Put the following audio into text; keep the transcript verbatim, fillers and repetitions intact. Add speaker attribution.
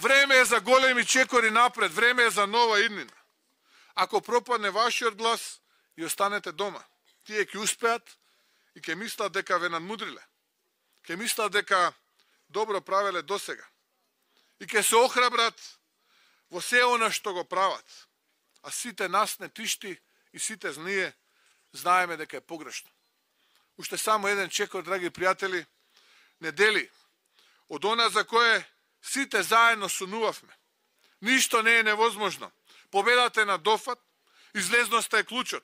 Speaker 1: Време е за големи чекори напред, време е за нова иднина. Ако пропадне вашиот глас, и останете дома. Тие ќе успеат и ќе мислат дека ве надмудриле. Ќе мислат дека добро правеле досега. И ќе се охрабрат во се она што го прават. А сите нас не тишти и сите ние знаеме дека е погрешно. Уште само еден чекор, драги пријатели, не дели од она за кое сите заедно сонувавме. Ништо не е невозможно. Победата е на дофат, излезноста е клучот.